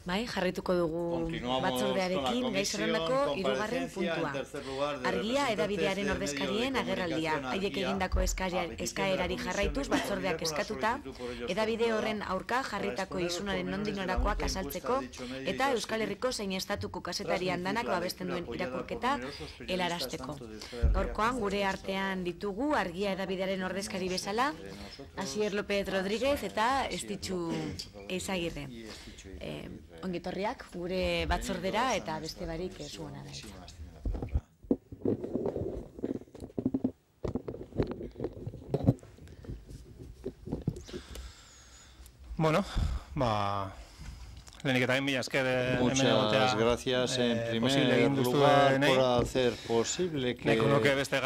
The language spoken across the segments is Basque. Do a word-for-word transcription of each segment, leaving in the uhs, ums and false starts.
Bai, jarrituko dugu batzordearekin gai zerrendako hirugarren puntua. Argia edabidearen ordezkarien agerraldia. Haiek egindako eskaerari jarraituz batzordeak eskatuta, edabide horren aurka jarritako isunaren nondik norakoak azaltzeko eta Euskal Herriko zein estatuko kazetari andanak babesten duen irakurketa helarazteko. Gaurkoan gure artean ditugu Argia edabidearen ordezkari bezala, Asier López Rodríguez eta Estitxu Eizagirre. Ongitorriak gure batzordera eta beste barik zuena da. Bueno, ba... Lehenik eta mila esker muchas gracias en primer lugar por hacer posible que nuestra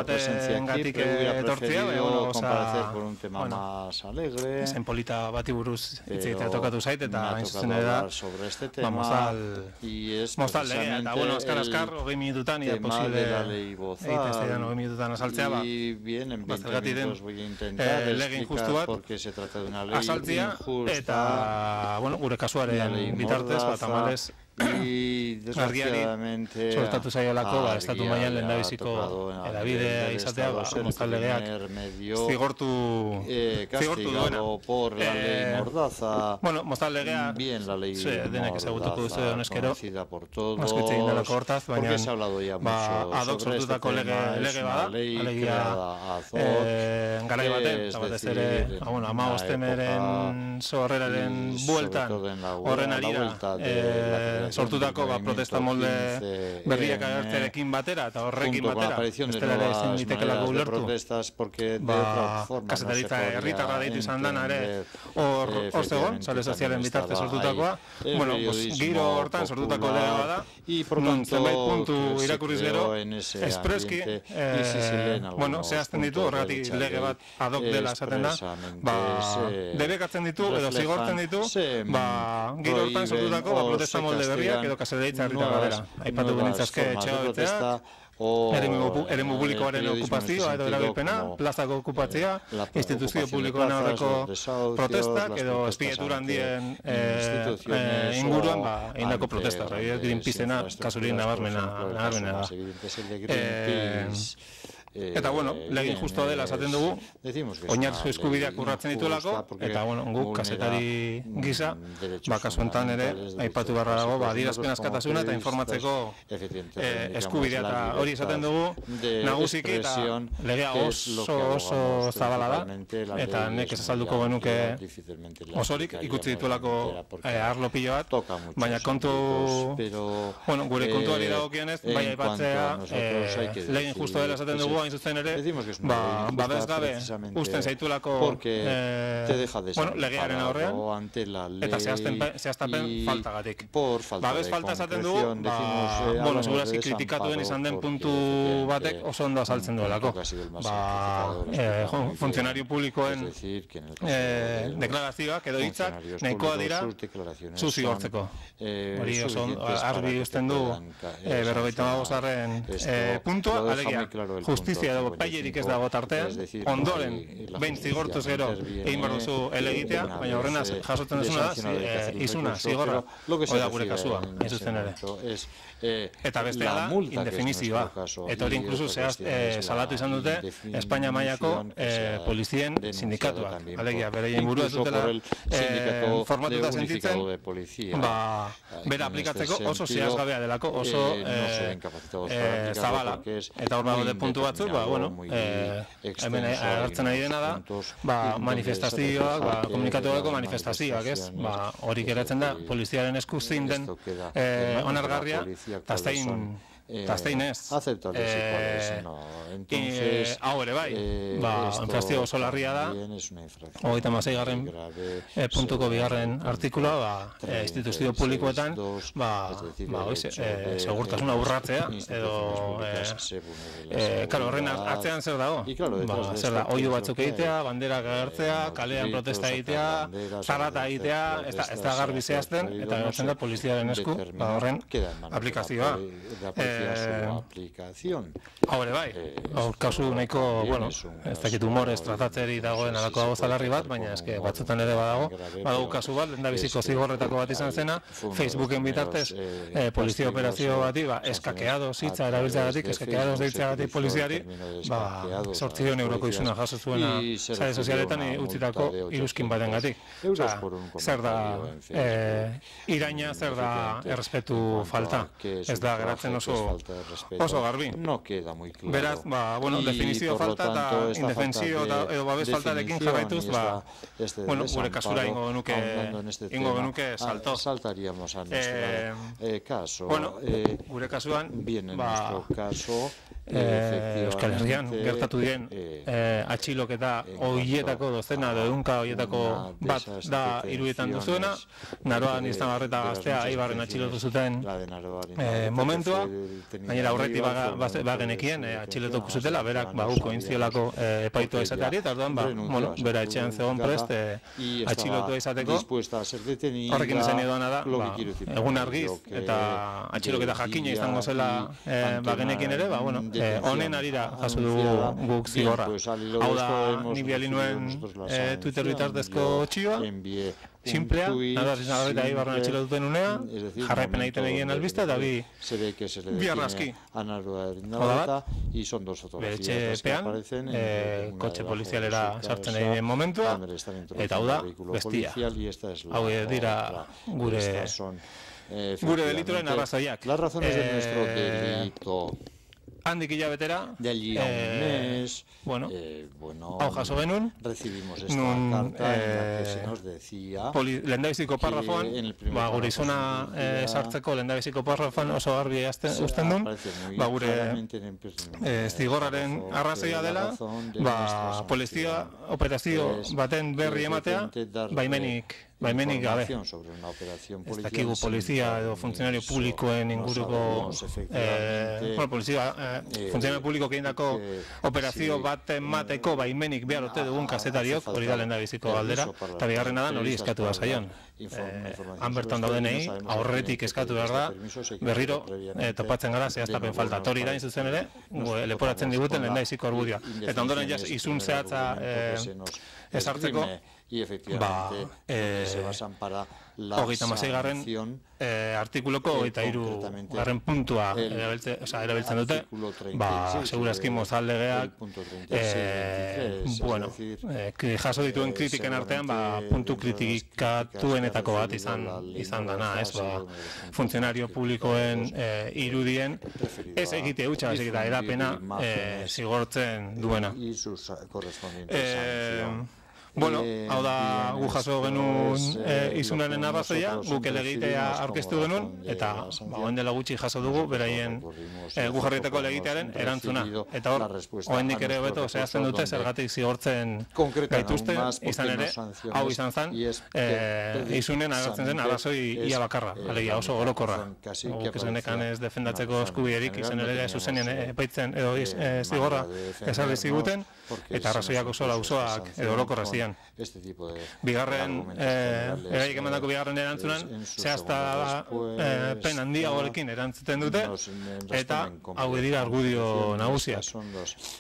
presencia aquí, pero hubiera preferido comparecer por un tema más alegre. Zen polita bati buruz hitz egitea tokatu zait eta hain zuzen da sobre este tema y es precisamente el tema de la ley Bozal. Y bien, en veinte minutos voy a intentar explicar por qué se trata de una ley injusta. bitartez, bat amales argiari sortatu zaiolako estatu mailan lehendabiziko edabidea izatea, Mozal legeak zigortu duena. Bueno, Mozal legea denek ezagutuko duzu honezkero asko hitz egin delako hortaz, baina ad hoc sortutako lege bada, alegia garai baten, eta batez ere hamabostemeren zorreraren bueltan horren arira sortutako protesta molde berriak agertzearekin batera eta horrekin batera bestela ere ezin litekeelako ulertu kazetaritza herritarra deitu izan dena ere hor zegoen, sare sozialen bitartez sortutakoa. Bueno, giro hortan sortutako lege bada non zenbait puntu irakurriz gero espreski zehazten ditu horregatik lege bat ad hoc dela esaten da debekatzen ditu edo zigortzen ditu giro hortan sortutako protesta molde berriak edo kazetaritza herritarra dela. Aipatu genitzazke etxea beteak, eremu publikoaren okupazioa edo erabilpena, plazako okupatzea, instituzio publikoen aurreko protestak edo espietura handien inguruan egindako protesta. Greenpeacena kasurik nabarmena da. Eta, bueno, legin justo dela esaten dugu, oinarrizko eskubideak urratzen dituelako, eta, bueno, guk kazetari gisa, kasu enten ere, aipatu barra dago, adierazpen askatasuna eta informatzeko eskubidea, eta hori esaten dugu, nagusiki eta legea oso oso zabala da, eta nek esalduko genuke osorik ikutzen dituelako arlo pilo bat, baina kontu, bueno, gure kontuari dagokionez, bai aipatzea, legin justo dela esaten dugu, hain zuzen ere, babes gabe usten zaituelako legearen aurrean eta zehaztapen faltagatik. Babes falta esaten dugu, segurazki kritikatuen izan den puntu batek oso ondo azaltzen duelako. Funtzionario publikoen deklarazioak edo hitzak nahikoa dira zuzigortzeko. Hori oso argi usten du berrogeita hamabosgarren puntua, alegia justizia edo pailerik ez dago tartean, ondoren behin zigortuz gero egin behar duzu elegitea, baina horrena jasotzen duzuna da, izuna, zigorra, hori da gure kasua, hain zuzen ere. Eta bestea da, indefinizioa. Eta hori inkluso salatu izan dute Espainia mailako polizien sindikatuak. Alegia, bereien burua ez dutela formatuta sentitzen, bera aplikatzeko oso zehazgabea delako, oso zabala. Eta hor dago de puntu batzuk, hemen agertzen ari dena da, manifestazioak, komunikatuako manifestazioak, ez? Hori geratzen da, poliziaren esku zein den onargarria, eta zein ez. Hau ere bai, infrazio oso larria da, hogeita hamaseigarren puntuko bigarren artikula, instituzio publikoetan, segurtasuna urratzea, edo, karo, horren atzean zer dago? Zer da, oihu batzuk egitea, banderak agertzea, kalean protesta egitea, zarata egitea, ez da garbi zehazten, eta geratzen da poliziaren esku, horren aplikazioa. Haure bai, hor kasu nahiko, bueno, ez dakit humorez tratatzeri dagoen alako dago zalarri bat, baina eske batzutan ere badago, badago kasu bat, lehendabiziko zigorretako bat izan zena, Facebooken bitartez polizia operazio bati, eskakeados hitza erabiltzeagatik, eskakeados deitzeagatik poliziari, zortziehun euroko izuna jaso zuena sare sozialetan utzitako iruzkin batengatik. Zer da iraina, zer da errespetu falta, ez da geratzen oso oso garbi. Beraz, bueno, definizio falta eta indefensio edo babes faltarekin jarraituz, bueno, gure kasura ingo genuke ingo genuke salto. Saltaríamos a nuestro caso. Bueno, gure kasuan, bien en nuestro caso, Euskal Herrian gertatu diren atxiloketa horietako dozena edo ehunka horietako bat da Irudietan duzuena, Naroan Iztamarreta gaztea Eibarren atxilotu zuten momentua, gainera aurretik bagenekien atxilotuko zutela, berak baguko intziolako epaitua izateari, eta orduan, bera etxean zegoen prest atxilotua izateko, horrekin izan edoana da, egun argiz, eta atxiloketa jakina izango zela bagenekien ere, ba, bueno, honen arira jaso dugu guk zigorra. Hau da, nik biali nuen Twitter bitartezko txioa, simplea, nada Iztamarreta Eibarren atxilotuten unea, jarraipen egiten egien albista, eta bi arrazki. Hau da bat, beretxe epean, kotxe polizialera sartzen egin momentua, eta hau da, bestia. Hau dira gure gure delituren arrazoiak. Las razones de nuestro delito. Handik hilabetera, de allí a un mes, bueno, eh, bueno, hau jaso genuen, recibimos esta nun, carta eh, en la que se nos decía lehendabiziko parrafoan, ba, gure izuna eh, sartzeko lehendabiziko parrafoan oso garbi uzten duen, ba, gure eh, zigorraren arrazoia dela, ba, polizia operazio baten berri ematea, baimenik baimenik gabe. Ez dakigu polizia edo funtzionario publikoen inguruko bueno, polizia, funtzionario publiko egindako operazio bat emateko baimenik behar ote dugun kazetariok, hori da lehendabiziko galdera, eta bigarrena da hori eskatu da zaion. Han bertan daudenei, aurretik eskatu behar da, berriro topatzen gara zehaztapen falta. Hori da zuzen ere, leporatzen diguten lehendabiziko argudioa. Eta ondoren jaz, izun zehatza ezartzeko, ba, hogeita hamasei garren artikuloko hogeita hiru garren puntua erabiltzen dute, ba, segurazki mozaldegeak, bueno, jaso dituen kritiken artean, ba, puntu kritikatuenetako bat izan dana, ez, ba, funtzionario publikoen irudien ez egite hutsa, ez egite edapena zigortzen duena. Bueno, hau da gu jaso genuen izunaren arrazoia, guk elegitea aurkeztu genuen, eta hauen dela gutxi jaso dugu, beraien gu jarrietako elegitearen erantzuna. Eta hor, hoendik ere hobeto zehazten dute zergatik zigortzen gaituzten, izan ere, hau izan zen, izunen agertzen zen arrazoi ia bakarra, alegia oso gorokorra. Guk ez genekan ez defendatzeko eskubierik, izan ere zuzenien epaitzen edo zigorra ezarri ziguten, eta arrazoiak oso lausoak edo orokorra ziren. Bigarren, eraik emandako bigarren erantzunan, zehazta pen handiagoekin erantzuten dute, eta hau dira argudio nagusiak.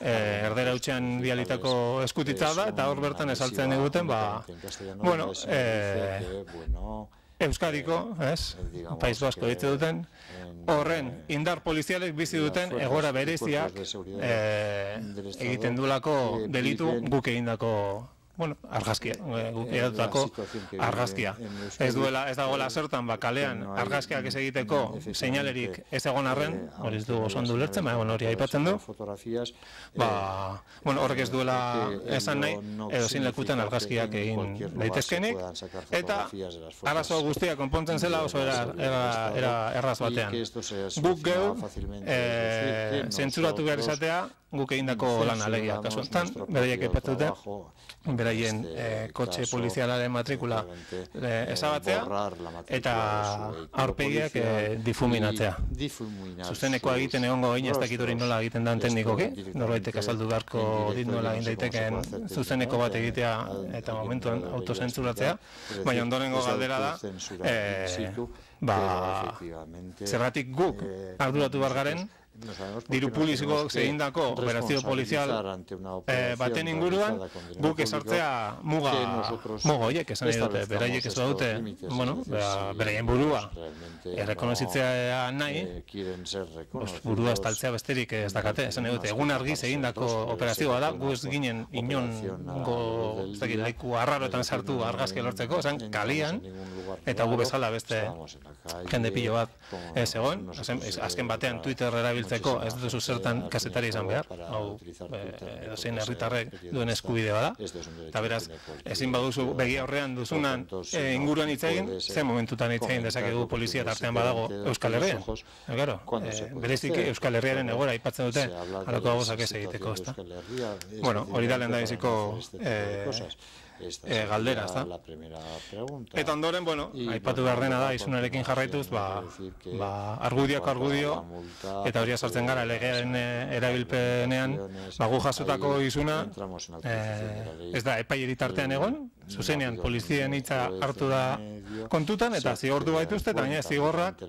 Erdera hutsean bialitako eskutitza da, eta hor bertan esaltzen diguten, ba, bueno, Euskadiko, ez, País Basko ditze duten, horren indar polizialek bizi duten egoera bereziak egiten duelako delitu guk egindako, bueno, argazkia, edatutako argazkia. Ez duela, ez dagoela zertan, ba, kalean argazkiak ez egiteko seinalerik ez egon arren, hori ez du oso ondo ulertzen, baina hori aipatzen du, ba, bueno, horrek ez duela esan nahi, edo zin lekutan argazkiak egin daitezkenik, eta arazo guztia konpontzen zela oso era erraz batean. Guk geu, zentzuratu behar izatea, guk egindako lan alegia. Kasu honetan, beraiek aipatzen dute, beraien kotxe polizialaren matrikula ezabatzea eta aurpegiak difuminatzea. Zuzenekoa egiten egongo gain ez dakit hori nola egiten dan teknikoki, norbaitek azaldu beharko dit nola egin daitekeen zuzeneko bat egitea eta momentuan autozentzuratzea, baina ondorengo galdera da, ba, zergatik guk arduratu behar garen, diru publiziko egindako operazio polizial baten inguruan guk esartzea muga muga horiek esan nahi dute, beraiek ez dute beraien burua errekonozitzea nahi burua estaltzea besterik ez dakate, esan nahi dute, egun argiz egindako operazioa da, gu ez ginen inongo leku arraroetan sartu argazki lortzeko, esan kalian eta gu bezala beste jende pilo bat ez egon, azken batean Twitter erabiltzen ez duzu zertan kazetari izan behar, hau edozein herritarrek duen eskubide bada, eta beraz, ezin baduzu begi aurrean duzunan inguruan hitz egin, ze momentutan hitz egin dezakegu polizia tartean badago Euskal Herrian. Berezik Euskal Herriaren egora aipatzen dute, halako gozak ez egiteko, ezta? Bueno, hori da lehendabiziko galdera, ezta? Eta ondoren, bueno, aipatu behar dena da, izunarekin jarraituz, argudiako argudio, eta hori sartzen gara legearen erabilpenean, gu jasotako izuna, ez da, epaileri tartean egon, zuzenean polizien hitza hartu da kontutan, eta zigortu baituzte, eta gaina zigorrak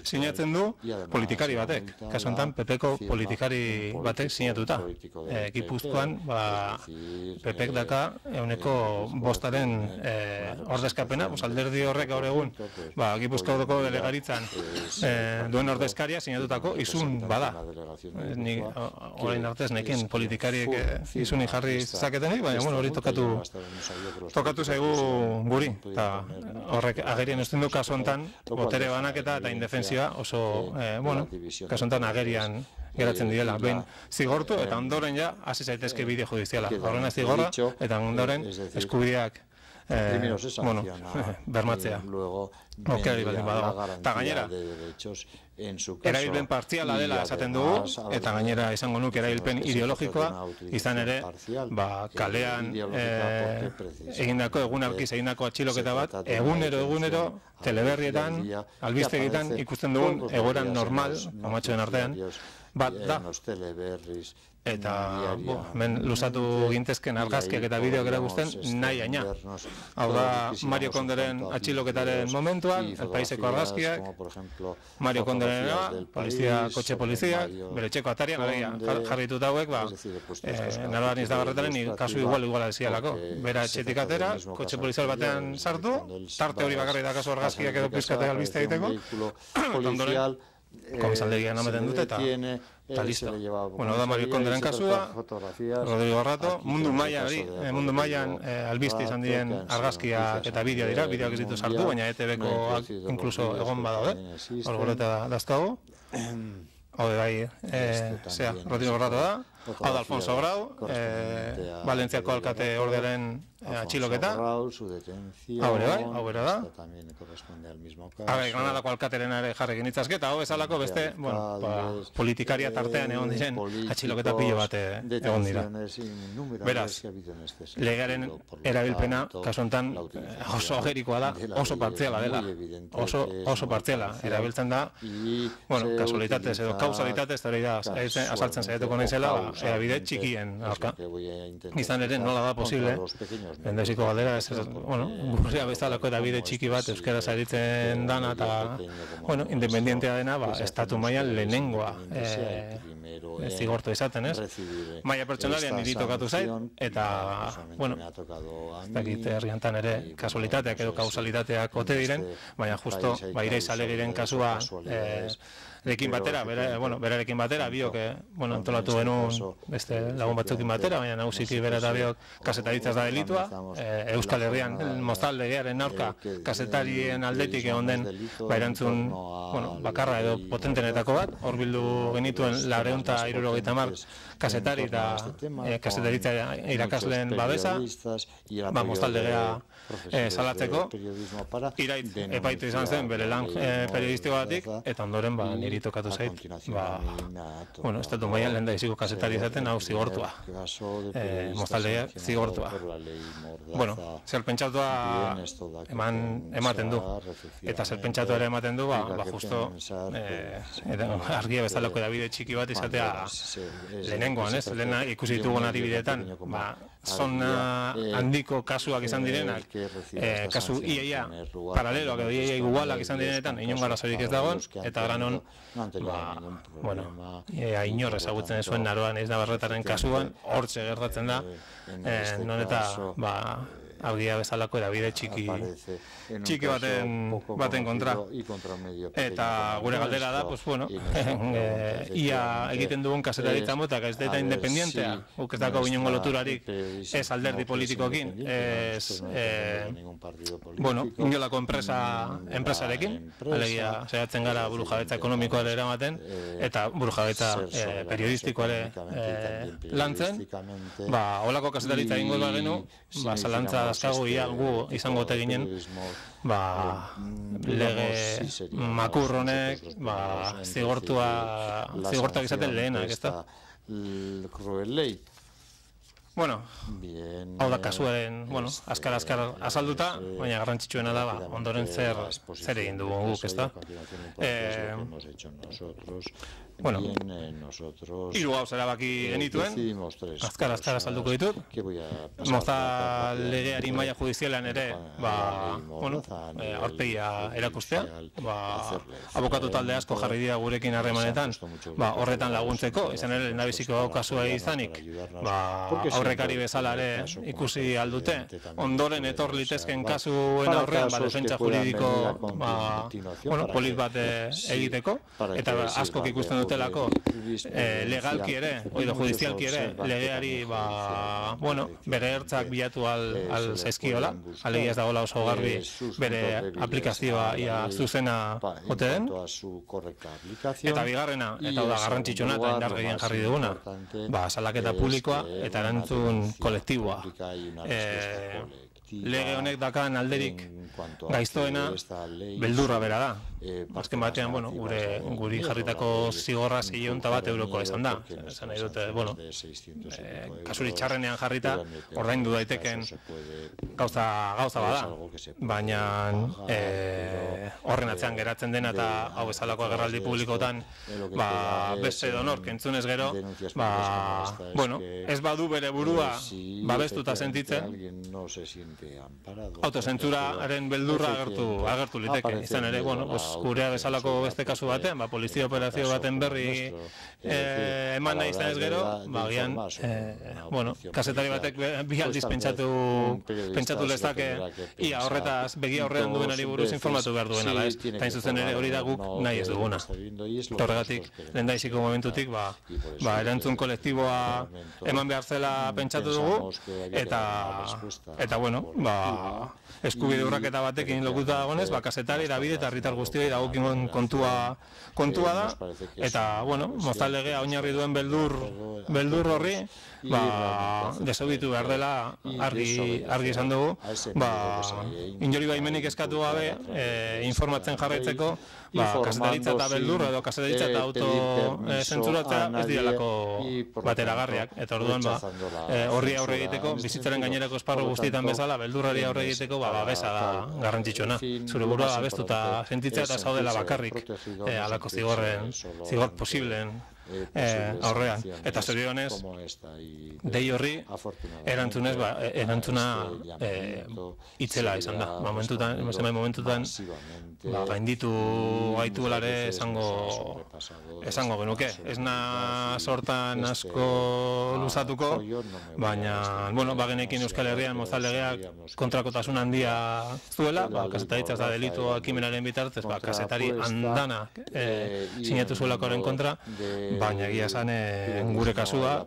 sinatzen du politikari batek, kasu honetan P Pko politikari batek sinatuta. Gipuzkoan, P Pk daka euneko bostaren ordezkapena, alderdi horrek gaur egun, Gipuzkoako delegaritzan duen ordezkaria sinatutako izun bada. Orain artez nekin politikariek izunik jarri zaketenik, baina hori tokatu tokatu zaigu guri, eta horrek agerien usten du kasu honetan botere banaketa eta indefensioa oso, bueno, kasu honetan agerian geratzen direla, behin zigortu eta ondoren ja hasi zaitezke bide judiziala, horrena zigorra eta ondoren eskubideak bueno, bermatzea okari baldin badago, eta gainera erabilpen partziala dela esaten dugu, eta gainera izango nuke erabilpen ideologikoa, izan ere kalean egindako, egun arkiz egindako atxiloketa bat, egunero, egunero, teleberrietan, albistegietan ikusten dugun egoeran normal, amatxoen artean, bat da. Eta, hemen luzatu gintezken argazkiak eta bideok erakusten nahi aina. Hau da, Mario Konderen atxiloketaren momentuan, El Paiseko argazkiak, Mario Konderen polizia, kotxe poliziak, bere txeko atarian, jarritut hauek, naroan izdagarretaren kasu igual iguala dezialako. Bera etxetik atera, kotxe polizial batean sartu, tarte hori bakarri da kasu argazkiak edo pizkate albiste egiteko, ondoren, komisaldegian ameten dute eta eta listo. Bueno, da Mario Konderen kasua, Rodrigo Rato, mundu mailan mundu mailan albiste izan diren argazkiak eta bideo dira, bideoak ez ditu sartu, baina E T Bkoak inkluso egon badaude, hor goreta dazkago. Hau de bai, zera, Rodrigo Rato da, hau da Alfonso Grau, Valentziako alkate ordearen atxiloketa, hau ere bai, hau ere da. Habe, Granadako alkateren ere jarrekin itzazketa, hau bezalako beste, bueno, politikaria tartean egon diren atxiloketa pilo bat egon dira. Beraz, legearen erabilpena, kasu honetan, oso agerikoa da, oso partziala dela, oso, oso partziala erabiltzen da, bueno, kasualitatez edo kausalitatez, eta hori da, azaltzen saiatuko naizela, ea bide txikien aurka. Izan ere, nola da posible, endeziko galdera, bueno, gurria bezalako eta bide txiki bat euskaraz aritzen dana eta, bueno, independientea dena, estatu mailan lehenengoa zigortu izaten, ez? Maila pertsonalian niri tokatu zait, eta, bueno, ez dakit herriantan ere kasualitateak edo kausalitateak ote diren, baina justo, Iraiz Alegiren kasua rekin batera, bueno, berarekin batera, biok, bueno, antolatu genuen beste lagun batzukin batera, baina nagusiki bera eta biok kasetaritzaz da delitua, kontua, Euskal Herrian mozal legearen aurka kazetarien aldetik egon den erantzun bakarra edo potentenetako bat, hor bildu genituen laurehun eta hirurogeita hamar kazetari eta kazetaritza irakasleen babesa, mozal legea salatzeko, Iraitz epaitu izan zen bere lan periodistikoatik, eta ondoren niri tokatu zait, bueno, estatu mailan lehen da iziko kazetari izaten hau zigortua, mozaldea zigortua. Bueno, zer pentsatua ematen du, eta zer pentsatua ere ematen du, ba, justo argia bezalako edabide txiki bat izatea lehenengoan, ez? Lehena ikusi ditugun adibideetan, ba, zona handiko kasuak izan direnak, kasu iaia paraleloak edo iaia igualak izan direnetan, inon garazorik ez dagoen, eta granon, bueno, inor ezagutzen zuen Naroan ez Navarretaren kasuan, hortxe gertatzen da, non eta, ba, argia bezalako edabide txiki txiki baten baten kontra. Eta gure galdera da, pues bueno, ia egiten dugun kazetaritza motak ez da independentea, guk ez dako inongo loturarik ez alderdi politikoekin, ez, bueno, inolako enpresa enpresarekin, alegia zehatzen gara burujabetza ekonomikoare eramaten, eta burujabetza periodistikoare lantzen, ba, holako kazetaritza egingo da genu, ba, zalantza dazkagu ia gu izango ote ginen, ba, lege makur honek, ba, zigortua, zigortuak izaten lehenak, ez da? Bueno, hau da kasuaren, bueno, azkar-azkar azalduta, baina garrantzitsuena da, ba, ondoren zer, zer egin dugu guk, ez da? Eh, bueno, hiru gauz erabaki genituen, azkar-azkar azalduko ditut, moza legeari maila judizialean ere, ba, bueno, aurpegia erakustea, ba, abokatu talde asko jarri dira gurekin harremanetan, ba, horretan laguntzeko, izan ere, lehendabiziko kasua izanik, ba, aurrekari bezala ere ikusi aldute, ondoren etor litezken kasuen aurrean, ba, defentsa juridiko, ba, bueno, polit bat egiteko, eta askok ikusten dutelako, legalki ere, oido judizialki ere, legeari, ba, bueno, bere ertzak bilatu al zaizkiola, alegia ez dagoela oso garbi bere aplikazioa ia zuzena ote den, eta bigarrena, eta da garrantzitsuna eta indar gehien jarri duguna, ba, salaketa publikoa eta erantzun kolektiboa. Lege honek dakan alderik gaiztoena beldurra bera da. Azken batean, bueno, gure guri jarritako zigorra zionta bat eurokoa izan da. Esan nahi dute, bueno, kasuri txarrenean jarrita, ordaindu daiteken gauza gauza bada. Baina horren atzean geratzen dena eta hau bezalako agerraldi publikotan, ba, beste donork entzunez gero, ba, bueno, ez badu bere burua babestuta sentitzen, autozentzuraren beldurra agertu, agertu liteke. Izan ere, bueno, gurea bezalako beste kasu batean, ba, polizia operazio baten berri eman nahi izan ez gero, ba, gian, bueno, kazetari batek bi aldiz pentsatu, pentsatu lezake, ia horretaz, begia horrean duenari buruz informatu behar duena, da ez? Eta zuzen ere hori da guk nahi ez duguna. Horregatik, lehendaiziko momentutik, ba, ba, erantzun kolektiboa eman behar zela pentsatu dugu, eta, eta, bueno, ba, eskubide urraketa batekin lokuta dagonez, ba, kazetari, erabide eta herritar guztioi dagokion kontua kontua da, eta, bueno, mozal legea oinarri duen beldur beldur horri, ba, desobitu behar dela argi, argi izan dugu, ba, inori baimenik eskatu gabe, informatzen jarraitzeko, ba, kazetaritza eta beldur edo kazetaritza eta autozentzuratzea ez direlako bateragarriak, eta orduan, ba, horri aurre egiteko, bizitzaren gainerako esparru guztietan bezala, beldurrari aurre egiteko, ba, babesa da garrantzitsuena. Zure burua babestuta sentitzea eta zaudela bakarrik halako zigorren, zigor posibleen aurrean. Eta zorionez, dei horri erantzunez, erantzuna itzela izan da. Momentutan, momentutan, gainditu gaituelare esango esango genuke. Ez na sortan asko luzatuko, baina, bueno, bagenekin Euskal Herrian mozal legeak kontrakotasun handia zuela, ba, kazetaritza da delitu ekimenaren bitartez, ba, kazetari andana sinatu zuelakoaren kontra, baina egia esan gure kasua,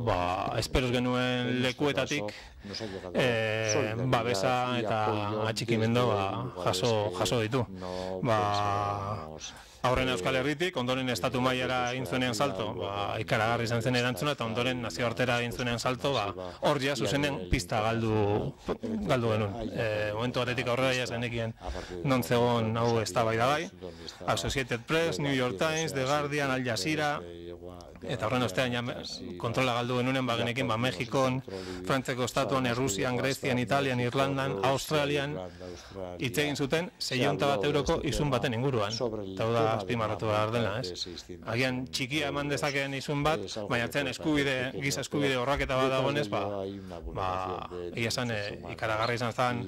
ba, esperoz genuen lekuetatik babesa eta atxikimendu jaso ditu. Aurren Euskal Herritik, ondoren estatu mailara egin zuenean salto, ikaragarri izan zen erantzuna, eta ondoren nazioartera egin zuenean salto, hor ja zuzenen pista galdu genuen. Momentu batetik aurrera ja zenekien non zegoen hau eztabaidagai. Associated Press, New York Times, The Guardian, Al Jazeera, eta horren ostean kontrola galdu genunen bagenekin Mexikon, Frantzeko estatuan, Errusian, Grezian, Italian, Irlandan, Australian, hitz egin zuten seionta bat euroko izun baten inguruan. Eta da azpimarratu behar dela, ez? Agian txikia eman dezakeen izun bat, baina zen eskubide, giza eskubide horraketa bat dagoenez, ba, egia esan ikaragarri izan zen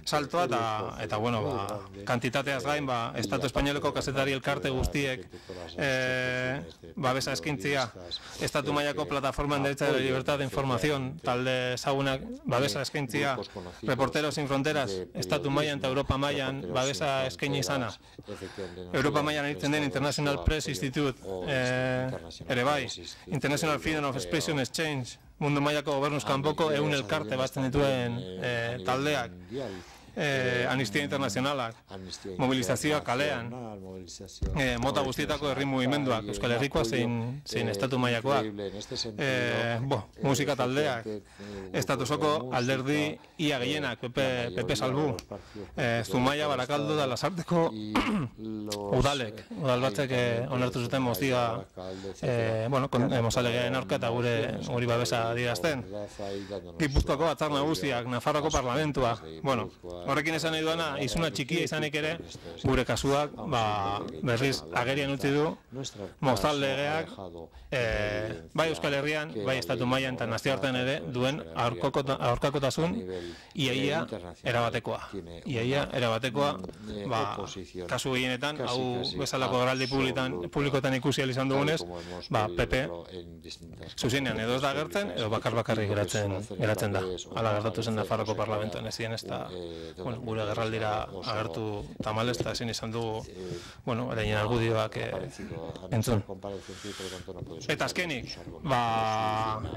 saltoa, eta, bueno, kantitateaz gain, Estatu Espainoleko kazetari elkarte guztiek babesa eskintzia, Estatu mailako plataforma en derecha de la libertad de información, talde ezagunak babesa eskintzia, Reporteros sin Fronteras, Estatu mailan eta Europa mailan babesa eskaini izana, Europa mailan egiten den International Press Institute, ere bai, International Freedom of Expression Exchange, mundu mailako gobernuz kanpoko ehun elkarte batzen dituen taldeak, Amnistia Internacionalak, mobilizazioa kalean, mota guztietako herri mugimenduak, Euskal Herrikoa zein estatu mailakoak, musika taldeak, estatusoko alderdi ia gehienak, Pepe Salbu, Zumaia, Barakaldo da Lasarteko udalek, udal batzek onartu zuten mozioa, mozalegearen aurka eta guri babesa adierazten. Gipuzkoako Batzar Nagusiak, Nafarroako Parlamentua, bueno, horrekin esan nahi duana, izuna txikia izanik ere, gure kasuak berriz agerian utzi du, mozal legeak, bai Euskal Herrian, bai Estatu mailan eta nazioartean ere, duen aurkakotasun iaia erabatekoa. Iaia erabatekoa, kasu gehienetan, hau bezalako geraldi publikoetan ikusi izan dugunez, P P zuzenean edo ez da gertzen, edo bakar bakarrik geratzen da. Hala gertatu zen Nafarroko Parlamentoan ez ziren ez da gure gerraldira agertu tamalez eta ezin izan dugu erainen argudioak entzun. Eta azkenik,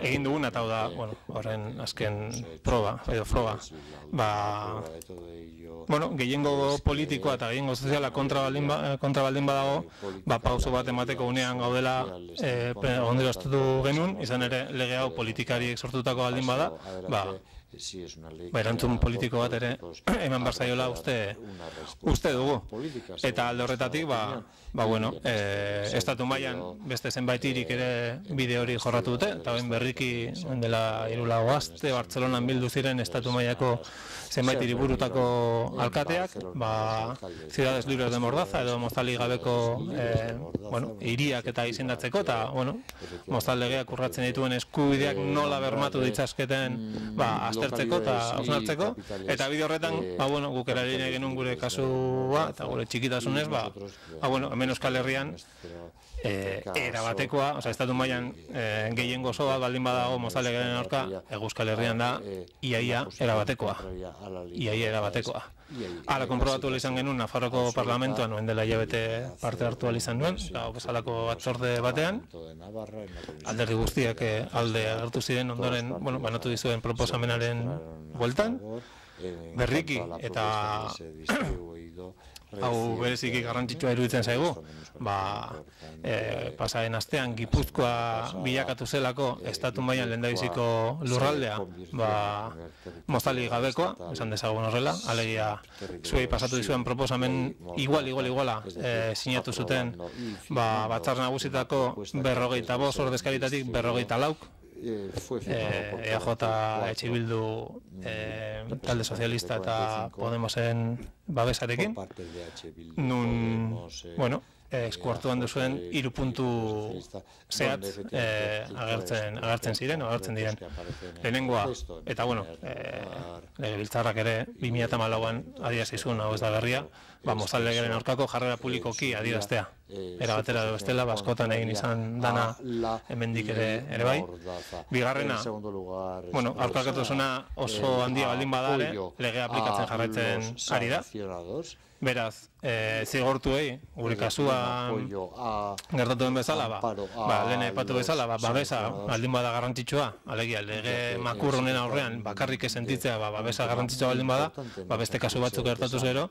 egin duguna eta hau da, horren azken proba, edo froga, gehiengo politikoa eta gehiengo soziala kontra baldin badago, pauso bat emateko unean gaudela ondero estatu genuen, izan ere lege hau politikariek sortutako baldin bada, erantzun politiko bat ere eman barzaiola uste dugu. Eta alde horretatik, estatu mailan beste zenbait hirik ere bide hori jorratu dute, eta ben berriki dela hirulago aste Bartzelonan bildu ziren estatu mailako zenbait hiriburutako alkateak, Ciudades Libres de Mordaza edo mozali gabeko hiriak eta izendatzeko, eta mozal legeak urratzen dituen eskubideak nola bermatu ditzazketen aztertzeko eta hausnartzeko, eta bide horretan guk eragin genuen gure kasua eta gure txikitasunez, hemen Euskal Herrian erabatekoa, estatu mailan gehiengo oso bat baldin badago mozalegaren aurka, Euskal Herrian da iaia erabatekoa. Iaia erabatekoa. Hala konprobatu izan genuen Nafarroko Parlamentuan, noen dela hilabete parte hartu izan nuen, eta bezalako batzorde batean, alderdi guztiak alde agertu ziren ondoren, banatu dizuen proposamenaren bueltan, berriki eta hau bereziki garrantzitsua iruditzen zaigu, pasaren astean Gipuzkoa bilakatu zelako estatu mailan lehendabiziko lurraldea mozali gabekoa, esan dezagun horrela, alegia zuei pasatu dizuen proposamen igual, igual, iguala sinatu zuten Batzar Nagusitako berrogeita bost ordezkaritatik berrogeita lauk, E A J, Etxe Bildu, talde sozialista eta Podemosen babesarekin, nun, bueno, eskuartuan duzuen hiru puntu zehat agertzen ziren, agertzen diren lehenengoa, eta bueno, legebiltzarrak ere bi mila hamalauan adierazizun, hau ez da berria, mozal legeren aurkako jarrera publikoki adieraztea. Era batera edo bestela, askotan egin izan dana hemendik ere bai. Bigarrena, bueno, aurkakotasuna oso handia baldin badare, legea aplikatzen jarraitzen ari da. Beraz, zigortuei, gure kasuan gertatu den bezala, lehen aipatu bezala, babesa baldin bada garrantzitsua, alegia, lege makurrunen aurrean bakarrik sentitzea babesa garrantzitsua baldin bada, beste kasu batzuk gertatuz gero,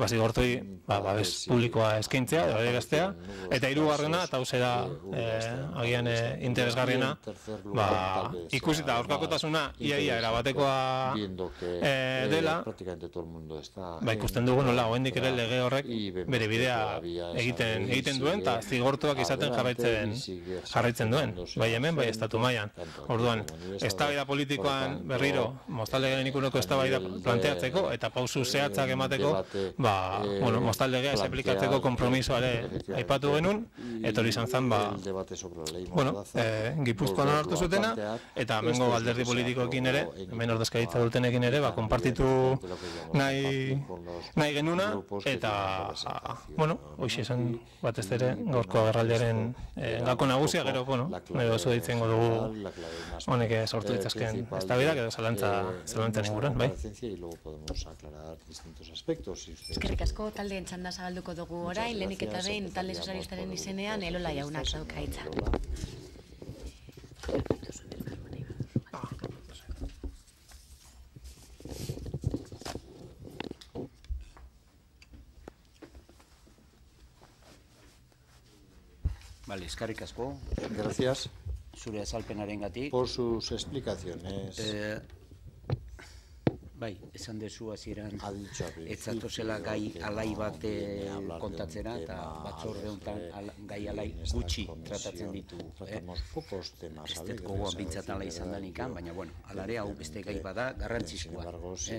zigortuei babes publikoa eskaintzea, adieraztea, eta hirugarrena, eta hau zera agian interesgarriena, ikusita aurkakotasuna iaia erabatekoa dela, ikusten dugu nola, oraindik ere lege horrek bere bidea egiten egiten duen eta zigortuak izaten jarraitzen jarraitzen duen, bai hemen, bai estatu mailan. Orduan, eztabaida politikoan berriro moztaldearen inguruko eztabaida planteatzeko eta pausu zehatzak emateko, ba, bueno, moztaldegea ez aplikatzeko konpromisoa ere aipatu genuen, etorri izan zen, ba, bueno, Gipuzkoan hartu zutena eta hemengo alderdi politikoekin ere, hemen ordezkaritza dutenekin ere, ba, konpartitu nahi nahi genuna, eta, bueno, hoxe esan batez ere, gaurko agerraldiaren gako nagusia, gero, bueno, nahi oso ditzen dugu honek sortu ditzazken eztabaidak edo zalantzan inguruan, bai? Eskerrik asko, taldeen txanda zabalduko dugu orain, lehenik eta behin talde sozialistaren izenean Elola jaunak dauka hitza. Vale, eskerrik asko. Gracias. Zure azalpenarengatik. Por sus explicaciones. Eh, bai, esan dezu hasieran ez zatozela gai alai bat kontatzera eta batzorde honetan gai alai gutxi tratatzen ditu. Ez dut gogoan bintzat ala izan danikan, baina bueno, alare hau beste gai bada garrantzizkoa.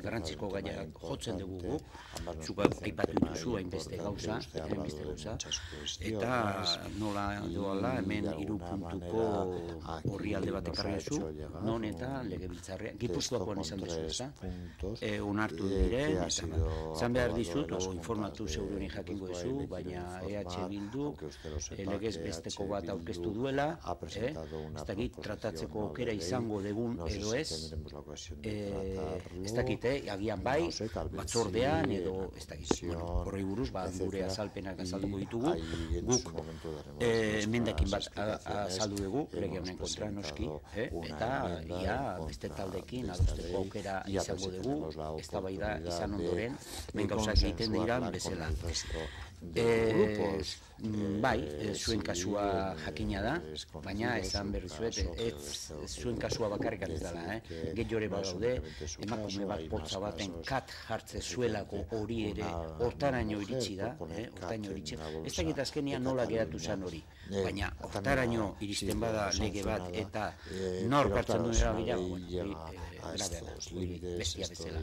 Garrantzizko gaia jotzen dugu gu, zuk aipatu duzu hainbeste gauza, hainbeste gauza, eta nola doala hemen hiru puntuko horri alde bat ekarri duzu, non eta legebiltzarrean, Gipuzkoakoan izan duzu, ezta? Onartu dire, zan behar dizut, o informatu zeuruen jakingo duzu, baina E H Bildu legez besteko bat aurkeztu duela, ez dakit tratatzeko aukera izango degun edo ez, ez dakit, agian bai, batzordean edo ez dakit, horrei buruz, gure azalpenak azalduko ditugu, guk emendakin bat azaldu dugu, lege honen kontra noski, eta ia beste taldekin adosteko aukera izango dugu, eztabaida izan ondoren, ben gauzak egiten diran bezala. Bai, zuen kasua jakina da, baina esan berri zuet, zuen kasua bakarrik ez dela, gehiore badaude, emakume bat potza baten kat jartze zuelako hori ere hortaraino iritsi da, hortaraino iritsi, ez dakit azkenian nola geratu zen hori, baina hortaraino iristen bada lege bat eta nor hartzen duen erabila, bestia bezala.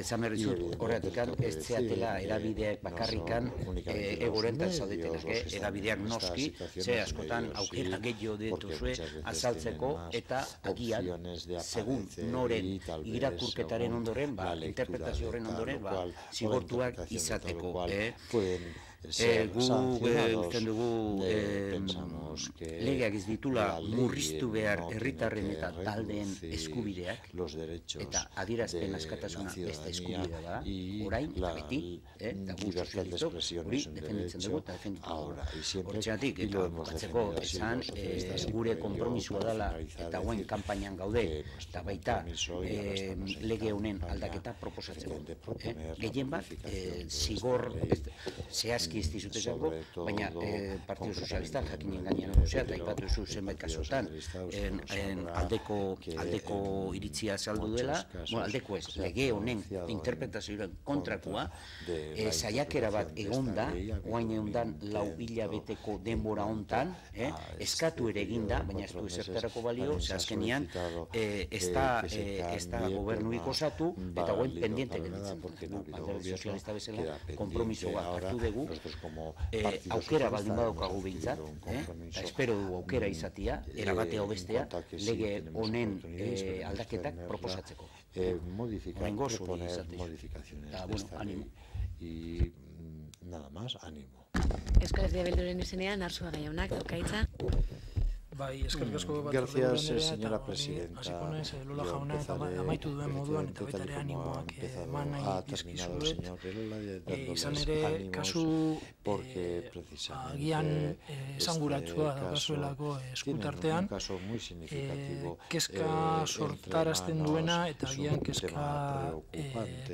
Zan berri zut, horretik ez zeatela erabideak bakarrikan egorentan zaudetenak, erabideak noski, ze askotan aukera gehiago dituzue azaltzeko eta agian, segun noren irakurketaren ondoren, interpretazio horren ondoren, zigortuak izateko. Gu usten dugu legeak ez ditula murriztu behar herritarren eta taldeen eskubideak eta adierazpen askatasuna beste eskubidea da, orain eta beti, eta gu sozialistok hori defenditzen dugu eta defendituko dugu. Hortzeatik, eta bukatzeko esan gure konpromisua dela eta guen kanpainan gaude eta baita lege honen aldaketa proposatzeko. Gehien bat, zigor zehaz ez dizutezako, baina Partido Sozialistak jakinen gainean gozea, eta ipatu zu zenbait kasutan aldeko iritzia azaldu dela, aldeko ez, lege honen interpretazioaren kontrakoa, saiakera bat egonda, guain egondan lau hilabeteko denbora hontan, eskatu ere eginda, baina ez du ezertarako balio, ze azkenian ez da gobernuik osatu, eta guain pendiente gelditzen. Alderdi Sozialista bezala, konpromisoa hartu dugu, aukera baldin badaukagu behintzat, eta espero dugu aukera izatia, erabatea bestea, lege honen aldaketak proposatzeko. Horrengo zuri izatez. Eta, bueno, animo. Y nada más, ánimo. Euskal Herria Bilduren izenean, Arzuaga jaunak, dauka hitza. Bai, eskerrik asko bat Gracias, señora presidenta. Hasiko naiz Lola jauna eta amaitu duen moduan eta baita ere animoak eman nahi dizkizuet. Izan ere, kasu agian esanguratsua daukazuelako eskutartean, kezka sortarazten duena eta agian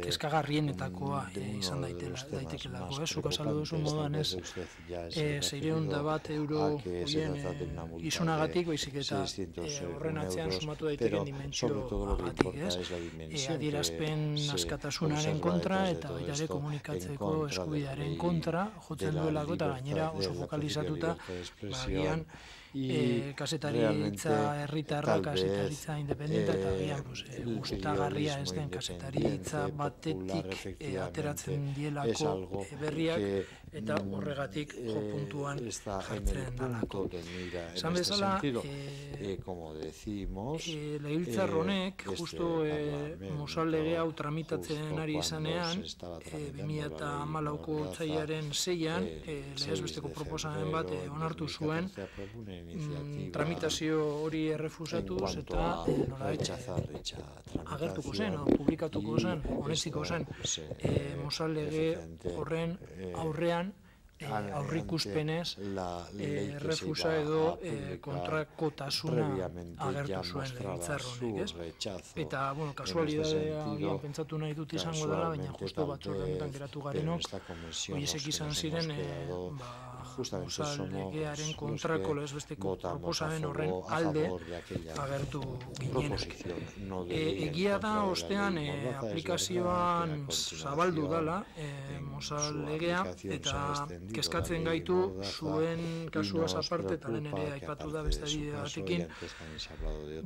kezkagarrienetakoa izan daitekelako. Zuk azaldu duzu moduan ez, seiehun eta bat euro horien izunagatik, baizik eta horren atzean sumatu daiteken dimentsio agatik, adierazpen askatasunaren kontra eta baita ere komunikatzeko eskubidearen kontra jotzen duelako eta gainera oso fokalizatuta agian kasetaritza herritarra, kasetaritza independenta eta agian gustagarria ez den kasetaritza batetik ateratzen dielako berriak eta horregatik jo puntuan jartzen dalako. Esan bezala, legebiltzar honek, justu Mosal lege hau tramitatzen ari izanean, bi mila hamalauko otsailaren seian, legez besteko proposamen bat onartu zuen, tramitazio hori errefusatuz eta nolabait agertuko zen, publikatuko zen, onetsiko zen, Mosal lege horren aurrean aurrikuspenez errefusa edo kontrakotasuna agertu zuen legebiltzar honek, ez? Eta, bueno, kasualidadea agian pentsatu nahi dut izango dela, baina justu batzorde honetan geratu garenok, horiek izan ziren, Mosal legearen kontrako lehesbesteko proposamen horren alde agertu ginenak. Egia da, ostean, aplikazioan zabaldu dela Mosal legea, eta kezkatzen gaitu zuen kasuaz aparte, eta lehen ere aipatu da beste adibide batekin,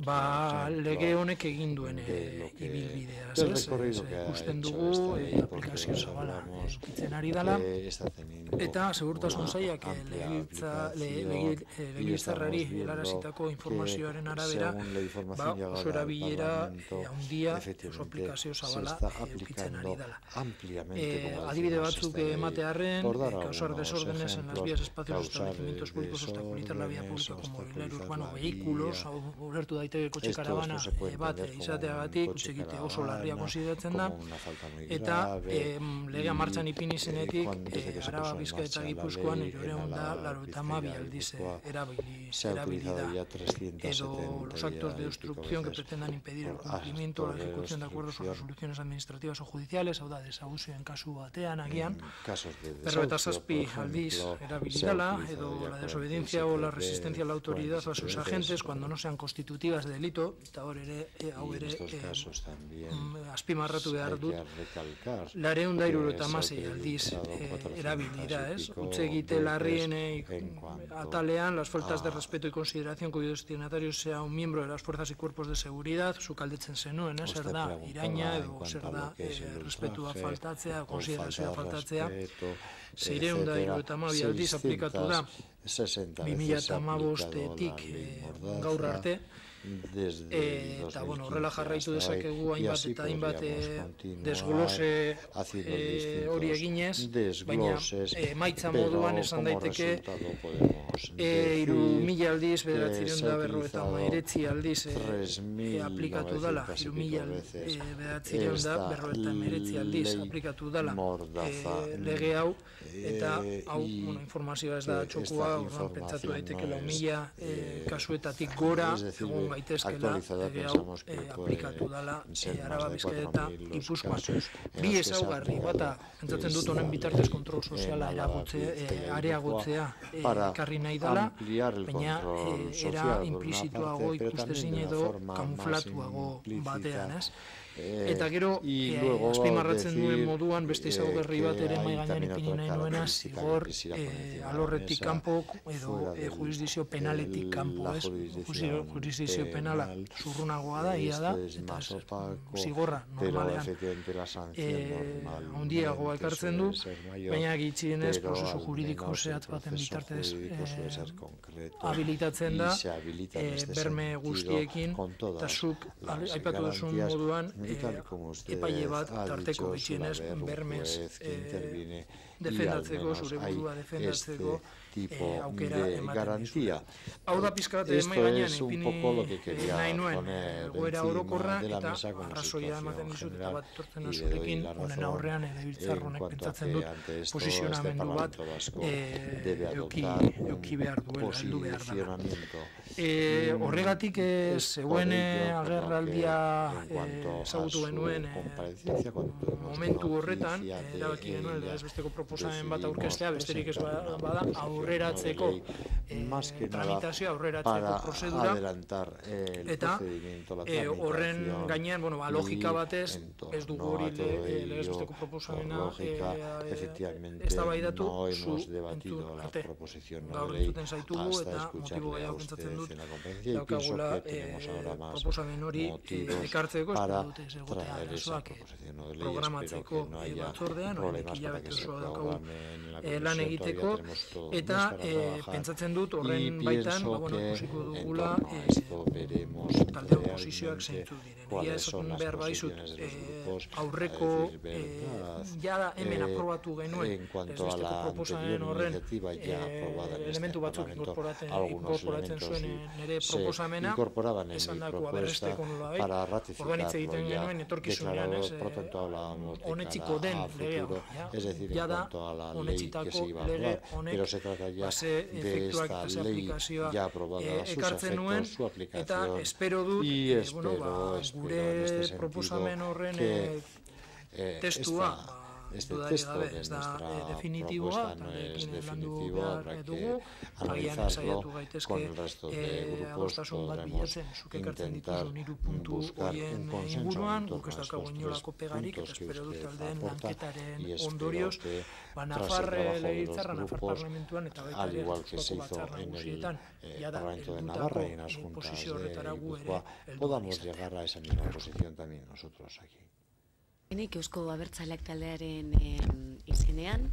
ba, lege honek egin duen ibilbidea, ez? Ikusten dugu aplikazio zabala edukitzen ari dela, eta segurtasun zailak legebiltzarrari helarazitako informazioaren arabera, ba, oso erabilera handia, oso aplikazio zabala edukitzen ari dela. Adibide batzuk ematearren, causar desórdenes en las vías, espacios, establecimientos públicos, obstaculizar la vía pública con mobiliario urbano, vehículos, ulertu daiteke kotxe karabana bat izateagatik, utzekite oso larria konsideratzen da, eta legea martxan ipini zenetik, Araba, Bizkaia eta Gipuzkoan hirurehun eta laurogeita hamabi aldiz erabili da, edo los actos de obstrucción que pretendan impedir el cumplimiento o la ejecución de acuerdos o resoluciones administrativas o judiciales, hau da, desaguzioen kasu batean agian, berrogeita zazpi aldiz erabili dela, edo la desobediencia o la resistencia a la autoridad o a sus agentes cuando no sean constitutivas de delito, eta hor ere, hau ere, azpimarratu behar dut, laurehun eta hirurogeita hamasei aldiz erabili da, ez? Utze egite larrien atalean, las faltas de respeto y consideración cuyo destinatario sea un miembro de las fuerzas y cuerpos de seguridad, zuk aldetzen zenuen, zer da, iraina, edo zer da, respetua faltatzea, konsiderazioa faltatzea, seiehun eta hirurogeita hamabi aldiz aplikatu da, bi mila hamabostetik gaur arte, eta, bueno, horrela jarraitu dezakegu hainbat eta hainbat desglose hori eginez, baina emaitza moduan esan daiteke hiru mila aldiz, bederatziehun eta berrogeita hemeretzi aldiz aplikatu dela, hiru mila bederatziehun eta berrogeita hemeretzi aldiz aplikatu dela lege hau, eta hau, informazioa ez da txokua, orduan pentsatu daiteke lau mila kasuetatik gora egon gaitezkela lege hau aplikatu dela Araba, Bizkaia eta Gipuzkoan. Bi ezaugarri, bata, pentsatzen dut honen bitartez kontrol soziala areagotzea ekarri nahi dela, baina era implizituago ikustezin edo kamuflatuago batean, ez? Eta gero, azpimarratzen duen moduan, beste ezaugarri bat ere mai gainean ipini nahi nuena, zigor alorretik kanpo edo jurisdizio penaletik kanpo, ez? Jurisdizio penala zurrunagoa da, ia da, eta zigorra normalean handiagoa ekartzen du, baina gitxienez prozesu juridiko zehatz baten bitartez habilitatzen da, berme guztiekin, eta zuk aipatu duzun moduan, epaile bat tarteko bitxienez bermez defendatzeko, zure burua defendatzeko, tipo de garantía. Esto es un poco lo que quería poner encima de la mesa como situación general y le doy la razón en cuanto a que ante esto este Parlamento Vasco debe adoptar un posicionamiento. Horregatik zeuen agerraldia ezagutu genuen momentu horretan, erabaki genuen legez besteko proposamen bat aurkeztea, besterik ez bada aurreratzeko tramitazioa, aurreratzeko prozedura, eta horren gainean, logika batez, ez dugu hori legez besteko proposamena eztabaidatu zu entzun arte. Gaur entzuten zaitugu eta motibo gehiago pentsatzen dut daukagula proposamen hori ekartzeko, espero dute ez egotea arazoak programatzeko batzordean, horrek hilabete osoa daukagu lan egiteko, eta pentsatzen dut horren baitan ikusiko dugula talde oposizioak zeintzuk diren. Egia esaten behar baizut aurreko jada hemen aprobatu genuen ez besteko proposamen horren elementu batzuk inkorporatzen zuen nire proposamena, esan dako aberresteko nola bai, orduan hitz egiten genuen etorkizunean, honetxiko den lege hau, jada honetxitako lege honek base efektuak eta ze aplikazioa ekartzen nuen, eta espero dut gure proposamen horren testua Este texto de nuestra propuesta no es definitivo, habrá que analizarlo con el resto de grupos, podremos intentar buscar un consenso en torno a estos tres puntos que usted aporta y espero que tras el trabajo de los grupos, al igual que se hizo en el Parlamento de Navarra y en las juntas de Guipúzcoa, podamos llegar a esa misma posición también nosotros aquí. Nik Eusko Abertzaleak taldearen izenean,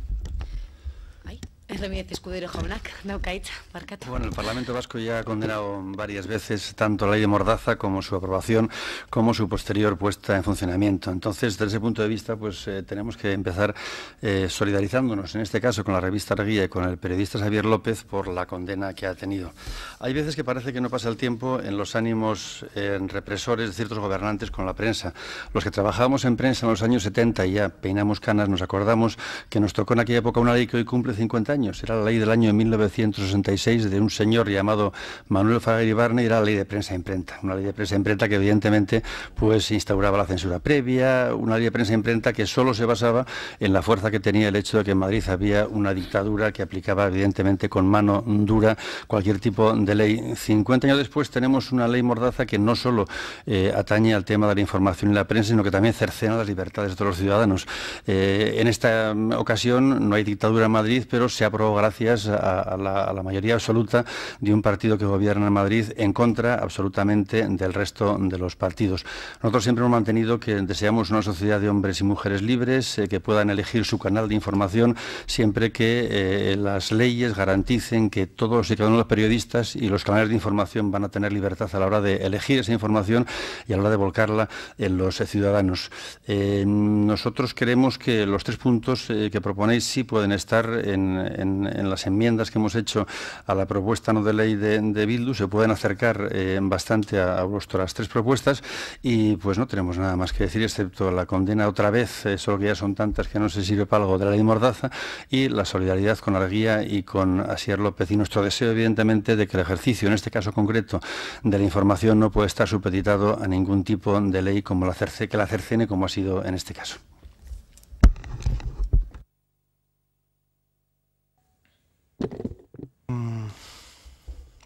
bai, Erremiet Escudero jaunak, daukaitza, barkatu. Bueno, el Parlamento Vasco ya ha condenado varias veces tanto la ley de Mordaza como su aprobación, como su posterior puesta en funcionamiento. Entonces, desde ese punto de vista, pues eh, tenemos que empezar eh, solidarizándonos, en este caso con la revista Argia y con el periodista Xavier López, por la condena que ha tenido. Hay veces que parece que no pasa el tiempo en los ánimos eh, represores de ciertos gobernantes con la prensa. Los que trabajamos en prensa en los años setenta y ya peinamos canas, nos acordamos que nos tocó en aquella época una ley que hoy cumple cincuenta años. Era la ley del año mil novecientos sesenta y seis de un señor llamado Manuel Fraga Iribarne, y era la ley de prensa e imprenta. Una ley de prensa e imprenta que evidentemente pues instauraba la censura previa, una ley de prensa e imprenta que solo se basaba en la fuerza que tenía el hecho de que en Madrid había una dictadura que aplicaba evidentemente con mano dura cualquier tipo de ley. cincuenta años después tenemos una ley Mordaza que no solo eh, atañe al tema de la información y la prensa, sino que también cercena las libertades de todos los ciudadanos. Eh, en esta ocasión no hay dictadura en Madrid, pero se aprobó gracias a, a, la, a la mayoría absoluta de un partido que gobierna en Madrid en contra absolutamente del resto de los partidos. Nosotros siempre hemos mantenido que deseamos una sociedad de hombres y mujeres libres, eh, que puedan elegir su canal de información siempre que eh, las leyes garanticen que todos y cada uno de los periodistas y los canales de información van a tener libertad a la hora de elegir esa información y a la hora de volcarla en los eh, ciudadanos. Eh, nosotros creemos que los tres puntos eh, que proponéis sí pueden estar en, en, en las enmiendas que hemos hecho a la propuesta no de ley de, de Bildu, se pueden acercar eh, bastante a, a vuestras tres propuestas, y pues no tenemos nada más que decir excepto la condena otra vez, eh, solo que ya son tantas que no se sirve para algo, de la ley Mordaza, y la solidaridad con Argia y con Asier López, y nuestro deseo evidentemente de que el ejercicio, en este caso concreto, de la información no puede estar supeditado a ningún tipo de ley como la cerce, que la cercene, como ha sido en este caso.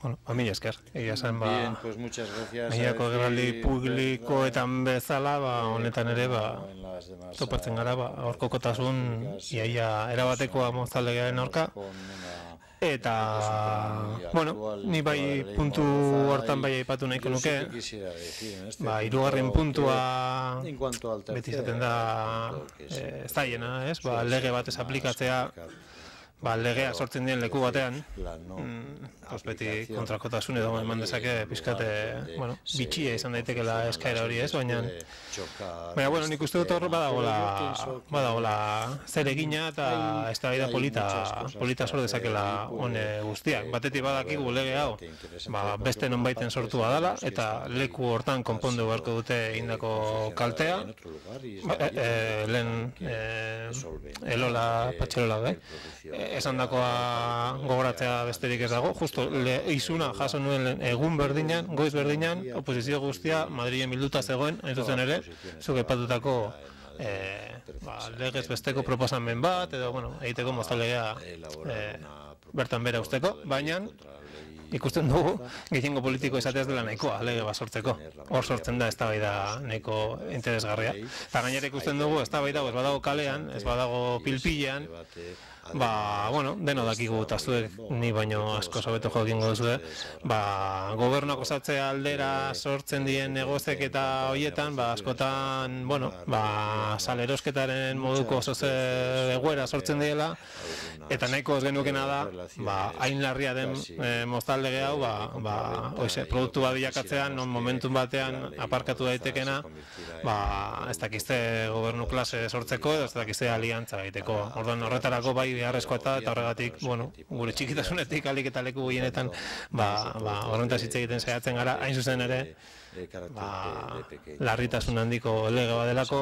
Bueno, a mí esker, egia zen, ba, Bien, pues muchas gracias. Egiako gerraldi publikoetan bezala, ba, honetan ere, ba, topatzen gara, ba, aurkokotasun, iaia erabatekoa mozaldegearen aurka, eta, bueno, ni bai puntu hortan bai aipatu nahiko nuke, ba, hirugarren puntua beti izaten da ez daiena, ez, ba, lege batez aplikatzea, ba, legea sortzen dien leku batean, beti kontrakotasun edo eman dezake pizkate, bueno, bitxia izan daitekela eskaera hori ez, baina, baina, bueno, nik uste dut hor badagola, badagola zer egina eta eztabaida polita, polita sor dezakela hone guztiak. Batetik badakigu lege hau, ba, beste nonbaiten sortua dela, eta leku hortan konpondu beharko dute indako kaltea, ba, e, e, lehen e, elola, patxelola, da, esan dakoa gogoratzea besterik ez dago, justo le, izuna jaso nuen egun berdinan, goiz berdinan, oposizio guztia Madrilen bilduta zegoen, hain zuzen ere, zuk aipatutako e, ba, legez besteko proposamen bat, edo, bueno, egiteko moztalegea e, bertan bera usteko, baina ikusten dugu, gehiengo politiko izateaz dela nahikoa, lege bat sortzeko. Hor sortzen da eztabaida nahiko interesgarria. Eta gainera ikusten dugu, eztabaida ez badago kalean, ez badago pilpilean, ba, bueno, deno dakigu eta zuek ni baino asko sobeto jokingo duzue, ba, gobernuak osatzea aldera sortzen dien negozek eta hoietan, ba, askotan, bueno, ba, salerosketaren moduko zoze egoera sortzen diela, eta nahiko ez genukena da, ba, hain larria den e, moztaldege hau, ba, ba, oize, produktu bat bilakatzean, non momentun batean aparkatu daitekena, ba, ez dakizte gobernu klase sortzeko, edo ez dakizte aliantza egiteko. Orduan horretarako bai beharrezkoa eta, eta horregatik, bueno, gure txikitasunetik alik eta leku gehienetan, ba, ba, horrentaz hitz egiten saiatzen gara, hain zuzen ere, ba, larritasun handiko lege badelako,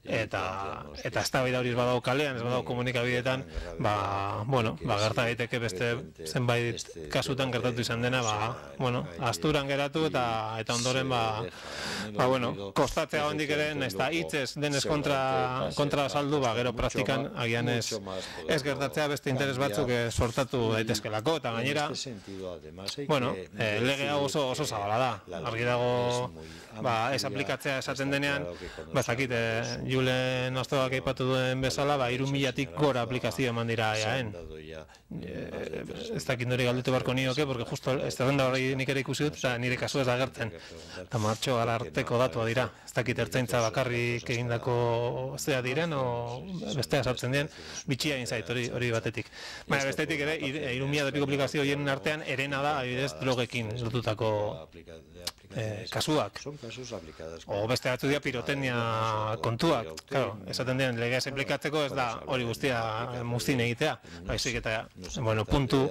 eta eta eztabaida hori ez badago kalean, ez badago komunikabideetan, ba, bueno, ba, gerta daiteke beste zenbait kasutan gertatu izan dena, ba, bueno, asturan geratu eta eta ondoren, ba, ba, bueno, kostatzea hondik ere, ez da hitzez denez kontra, kontra saldu, ba, gero praktikan agian ez, ez gertatzea beste interes batzuk sortatu daitezkelako, eta gainera, bueno, eh, lege hau oso, oso zabala da, argi dago, ba, ez aplikatzea esaten denean, ba, zakit, eh, Julen Astoak aipatu duen bezala, ba, hiru milatik gora aplikazio eman dira eaen. E, ez dakit nori galdetu beharko nioke, porque justo ez zerrenda hori nik ere ikusi dut, eta nire kasu ez da gertzen. Eta martxo arteko datua dira. Ez dakit ertzaintza bakarrik egindako zea diren, o bestea sartzen dien, bitxia egin zait hori, hori batetik. Baina bestetik ere, hiru mila depiko aplikazio horien artean, erena da, adibidez, drogekin lotutako eh, kasuak. O beste batzu dira pirotecnia kontuak. Claro, esaten den legea aplikatzeko ez da hori guztia muztin egitea, baizik eta, bueno, puntu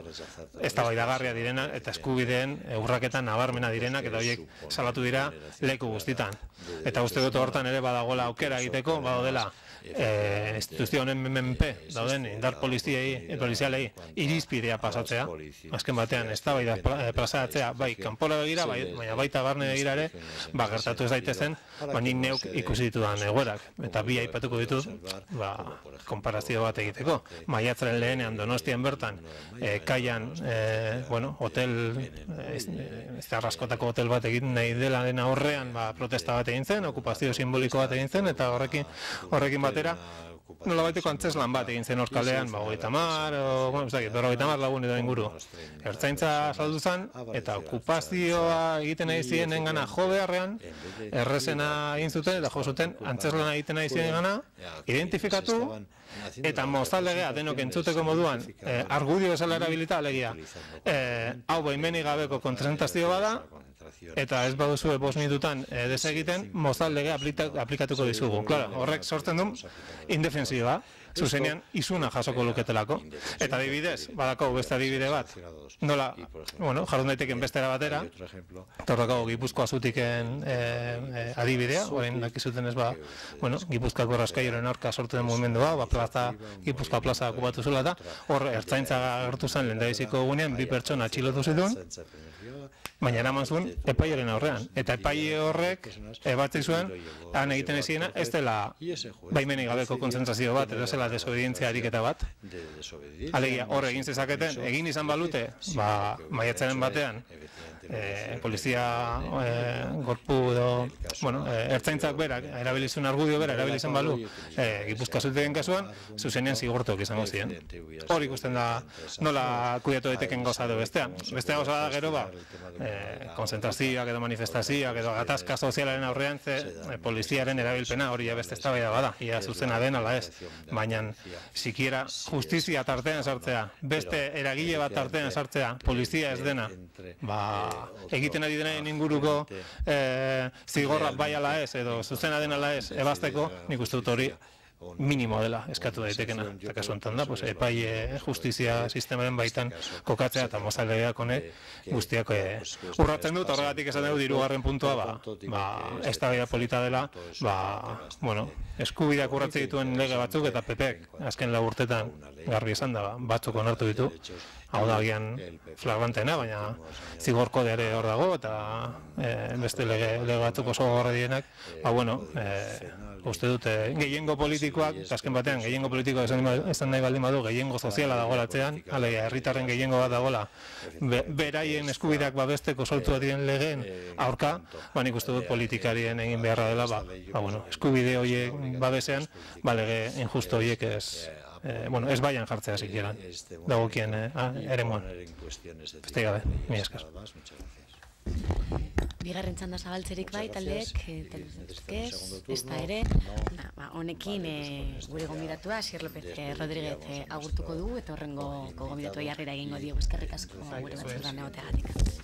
eztabaidagarria direna eta eskubideen urraketan nabarmena direnak eta horiek salatu dira leku guztitan. Eta uste dut hortan ere badagola aukera egiteko, badaudela E, instituzio honen menpe dauden indar poliziei, polizialei irizpidea pasatzea, azken batean eztabaida plazaratzea, bai kanpora begira, bai, baina baita barne begira ere, ba, gertatu ez daitezen, ba, nik neuk ikusi ditudan egoerak, eta bi aipatuko ditut, ba, konparazio bat egiteko. Maiatzaren lehenean Donostian bertan, e, kaian, e, bueno, hotel, ez arraskotako hotel bat egin nahi dela dena horrean, ba, protesta bat egin zen, okupazio simboliko bat egin zen, eta horrekin, horrekin bat nola baiteko antzeslan bat egin zen horkalean, ba, hogeita mar, o, bueno, ez dakit, berrogeita mar lagun edo inguru. Ertzaintza saldu zen, eta okupazioa egiten nahi zienen gana jo beharrean, errezena egin zuten, eta jo zuten, antzeslana egiten nahi zienen gana, identifikatu, eta mozaldegea denok entzuteko moduan, eh, argudio bezala erabilita, alegia, eh, hau baimenik gabeko kontzentrazio bada, eta ez baduzue bost minututan e, desegiten, mozaldegea aplikatuko dizugu. Claro, horrek sortzen du indefensioa, zuzenean izuna jasoko luketelako. Eta adibidez, badako beste adibide bat, nola, bueno, jardun daiteken bestera batera, eta horrekau Gipuzkoa zutiken e, e, adibidea, orain dakizuten ez ba, bueno, Gipuzkoako raskaioren aurka sortu den mugimendua, ba, plaza, Gipuzkoa plaza okupatu zula eta hor ertzaintza agertu zen lehendabiziko egunean, bi pertsona atxilotu zituen, baina eraman zuen epaiaren aurrean. Eta epaile horrek ebatzi zuen, han egiten eziena, ez dela baimenik gabeko konzentrazio bat, edo zela desobedientzia ariketa bat. Alegia, hor egin zezaketen, egin izan balute, ba, maiatzaren batean, polizia gorpu edo, bueno, ertzaintzak berak, erabilizun argudio bera, erabilizen balu, Gipuzkoa zultegen kasuan, zuzenean zigortuak izango ziren. Hor ikusten da nola kuidatu daiteken gauza edo bestea. Bestea gauza da gero ba, konzentrazioak edo manifestazioak edo gatazka sozialaren aurrean poliziaren erabilpena hori beste eztabaida bada, ia zuzena den ala ez. Baina, sikiera justizia tartean sartzea, beste eragile bat tartean sartzea, polizia ez dena, ba, egiten ari denaren inguruko zigorra bai ala ez, edo zuzena den ala ez, ebazteko, nik uste dut hori minimo dela eskatu daitekena. Eta kasu enten da, epai justizia sistemaren baitan kokatzea eta mozaleak honek guztiak urratzen dut, horregatik esan dugu dirugarren puntua, ez da baida polita dela, eskubideak urratze dituen lege batzuk eta P Pek azken lau urtetan garbi esan da, batzuk onartu ditu, hau da gian flagrantena, baina zigor kodeare hor dago eta beste lege batzuk oso gorra dienak, ba bueno, uste dute gehiengo politikoak, azken batean gehiengo politikoak esan nahi baldin badu, gehiengo soziala dagoelatzean, alegia, herritarren gehiengo bat dagoela, beraien eskubideak babesteko sortu diren legeen aurka, ba nik uste dut politikarien egin beharra dela, ba, bueno, eskubide horiek babesean, ba lege injusto horiek ez, bueno, ez baian jartzea zikieran, dagokien ere moan. Beste gabe, mi eskaz. Bigarren txanda zabaltzerik bai, taldeek, ez da ere, honekin gure gomidatua, Asier López Rodríguez agurtuko dugu, eta horrengo gomidatua jarrera egingo diogu, eskerrik asko gure batzurdan egoteagatik.